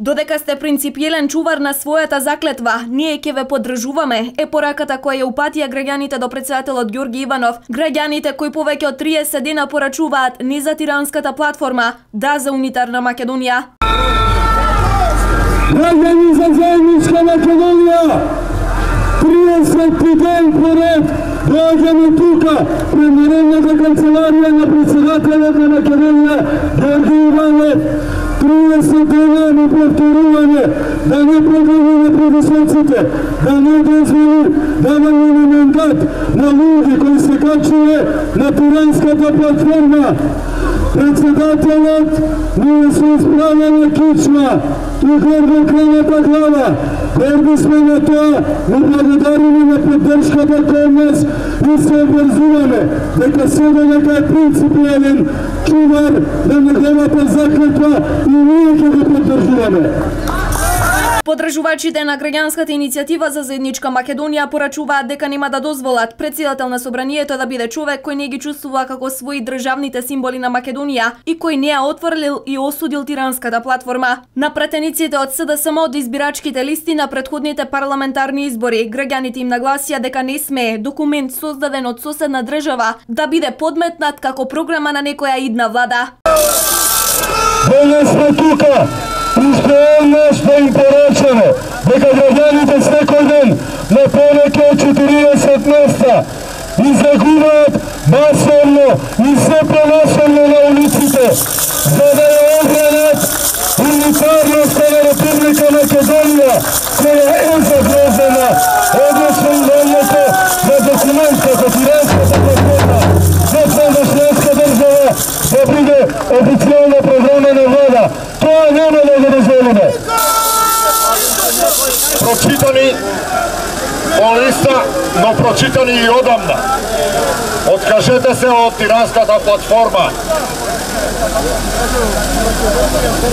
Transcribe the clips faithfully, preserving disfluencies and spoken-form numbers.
Додека сте принципиелен чувар на својата заклетва, ние ќе ве поддржуваме, е пораката која ја упатија граѓаните до претседателот Ѓорги Иванов. Граѓаните кои повеќе од триесет дена порачуваат не за тиранската платформа, да за унитарна Македонија. Граѓани за заедничка Македонија, триесет ден поред доаѓаме тука пред Народната канцеларија на претседателот на Македонија Ѓорги Иванов. триесет дена на повторување, да не продолжиме предизвиците, да не дозволи давање на мандат на луѓе кои се качиле на тиранската платформа. Председателот ние се исправена кичма и гордо крената глава. Горди сме на тоа, но благодариме на поддршката кој нас и се обврзуваме дека седа дека е принципиелен чувар на неговата заклетва и ние ќе го поддржуваме. Поддржувачите на граѓанската иницијатива за заедничка Македонија порачуваат дека нема да дозволат председател на собранието да биде човек кој не ги чувствува како своји државните символи на Македонија и кој не ја отфрлил и осудил тиранската платформа. На пратениците од СДСМ од избирачките листи на претходните парламентарни избори, граѓаните им нагласија дека не смее документ создаден од соседна држава да биде подметнат како програма на некоја идна влада. Денес сме тука, успеелно да им порачаме дека граѓаните секој ден на повеќе од четириесет места излегуваат масовно и се пренасовно на улиците за да ја одбранат унитарноста на Република Македонија која е загрозена, односно имањето на документ како тиранската платформа за продошлеска држава да биде официјална програма на влада. Тоа нема да го дозволиме. Прочитани по листа, но прочитани и одамна. Откажете се од тиранската платформа.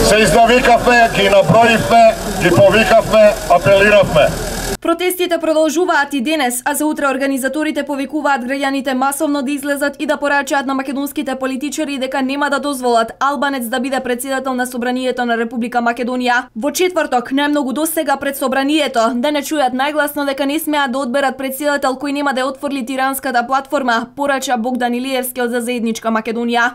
Се изнавикавме, ги наброивме, ги повикавме, апелиравме. Протестите продолжуваат и денес, а за утре организаторите повикуваат граѓаните масовно да излезат и да порачаат на македонските политичари дека нема да дозволат албанец да биде председател на собранието на Република Македонија. Во четврток, најмногу достега пред собранието, да не чујат најгласно дека не смеат да одберат председател кој нема да ја отфрли тиранската платформа, порача Богдан Илиевски од за заедничка Македонија.